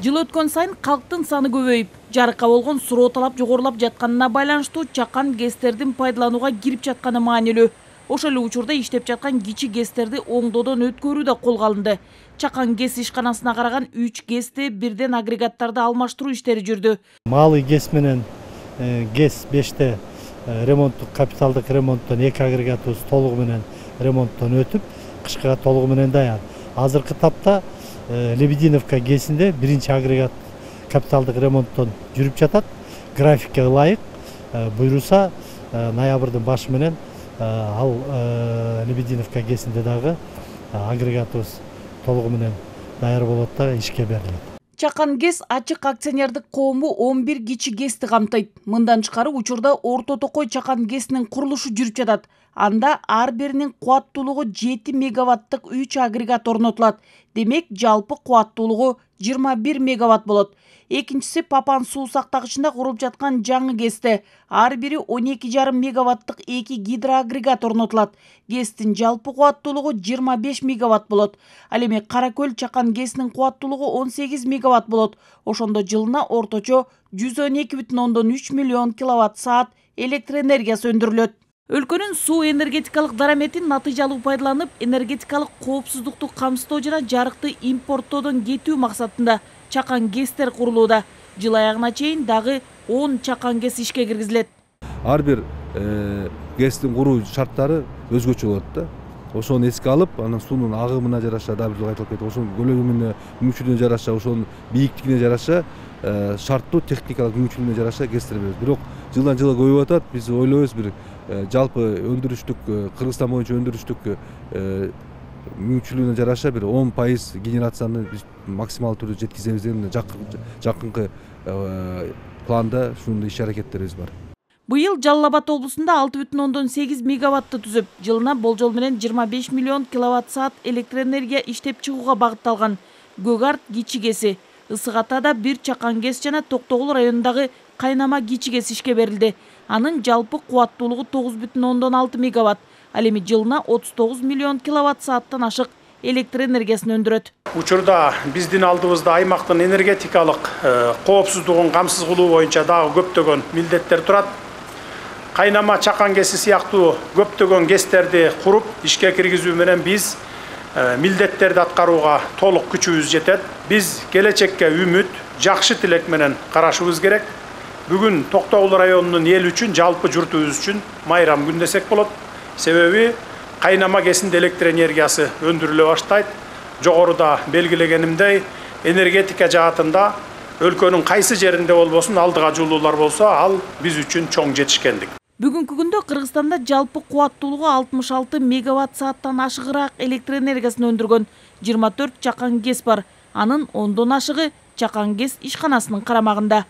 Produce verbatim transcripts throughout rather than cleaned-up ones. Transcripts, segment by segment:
Жыл өткөн сайын калктын саны көбөйүп, жарыкка болгон суроо талап жогорулап жатканына байланыштуу чакан гэстердин пайдаланууга кирип жатканы маанилүү. Ошол эле учурда иштеп жаткан кичи гэстерди оңдоодон өткөрүү да колго алынды. Чакан гэс ишканасына караган үч гэсти бирден агрегаттарды алмаштыруу иштери жүрдү. Малый гэс менен гэс беште ремонттук капиталдык ремонттон эки агрегатыбыз толугу менен ремонттон өтүп, кышкыга толугу менен даяр. Азыркы тапта Лебединовка гэсинде биринчи агрегат капиталдык ремонттон жүрүп жатат. Графикке ылайык буйруса ноябрдын башы менен ал Лебединовка гэсинде дагы агрегатыбыз толугу менен даяр болот да ишке берилет. Чакан гэс ачык акционердик коому он бир кичи гэсти камтыйт. Мындан тышкары учурда Орто Токой чакан гэсинин курулушу жүрүп жатат. Анда ар биринин кубаттуулугу жети мегаваттык үч агрегат орнотулат. Демек, жалпы кубаттуулугу жыйырма бир мегаватт болот. Экинчиси Папан суу сактагычында курулуп жаткан жаңы гэсте. Ар бири он эки жарым мегаваттык эки гидроагрегат орнотулат. Гэстин жалпы кубаттуулугу жыйырма беш мегаватт болот. Ал эми Каракөл чакан гэсинин кубаттуулугу он сегиз мегаватт болот. Ошондо жылына орточо жүз он эки бүтүн ондон үч миллион киловатт саат электр энергиясы өндүрүлөт. Өлкөнүн суу энергетикалык дараметин натыйжалуу пайдаланып, энергетикалык коопсуздукту камсыздоо жана жарыкты импорттоодон кетүү максатында чакан гэстер курулууда. Жыл аягына чейин дагы он чакан гэс ишке киргизилет. Ар бир гэстин куруу шарттары өзгөчө болот да. Ошону эске алып, анан суунун агымына жараша дагы бир айтылып кетти. Ошонун көлөмүнө, мүмкүнчүлүгүнө жараша, ошонун бийиктигине жараша, шарттуу техникалык мүмкүнчүлүгүнө жараша гэстер беребиз. Бирок жылдан жылга көбөйүп атат. Биз ойлойбуз бир жалпы өндүрүштүк, Кыргызстан боюнча өндүрүштүк мүмкүнчүлүгүнө жараша бир он пайыз генерацияны биз максималдуу түрдө жеткизебиз деген жакынкы планда ушундай иш аракеттерибиз бар. Быйыл Жалал Абад облусунда алты бүтүн ондон сегиз мегаватты түзүп, жылына болжол менен жыйырма беш миллион киловатт саат электр энергия иштеп чыгууга багытталган Көк Арт кичи гэси, Ысык Атада бир чакан гэс жана Токтогул районундагы Кайнама кичи гэс ишке берилди. Анын жалпы кубаттуулугу тогуз бүтүн ондон алты мегаватт. Ал эми жылына отуз тогуз миллион киловатт сааттан ашык электр энергиясын өндүрөт. Учурда биздин алдыбызда аймактын энергетикалык коопсуздугун камсыз кылуу боюнча дагы көптөгөн милдеттер турат. Кайнама чакан гэси сыяктуу көптөгөн гэстерди куруп ишке киргизүү менен биз милдеттерди аткарууга толук күчүбүз жетет. Биз келечекке үмүт, жакшы тилек менен карашыбыз керек. Бүгүн Токтогул районунун эл үчүн, жалпы журтубуз үчүн майрам күн десек болот. Себеби Кайнама гэсинде электр энергиясы өндүрүлө баштайт. Жогоруда белгилегенимдей, энергетика жаатында өлкөнүн кайсы жеринде болбосун алдыга жуулуулар болсо, ал биз үчүн чоң жетишкендик. Бүгүнкү күндө Кыргызстанда жалпы кубаттуулугу алтымыш алты мегаватт сааттан ашыгыраак электр энергиясын өндүргөн жыйырма төрт чакан гэс бар. Анын ондон ашыгы чакан гэс ишканасынын карамагында.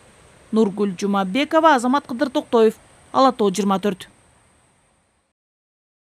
Нургүл Жумабекова, Азамат Кыдыр Токтоев, Ала Тоо жыйырма төрт.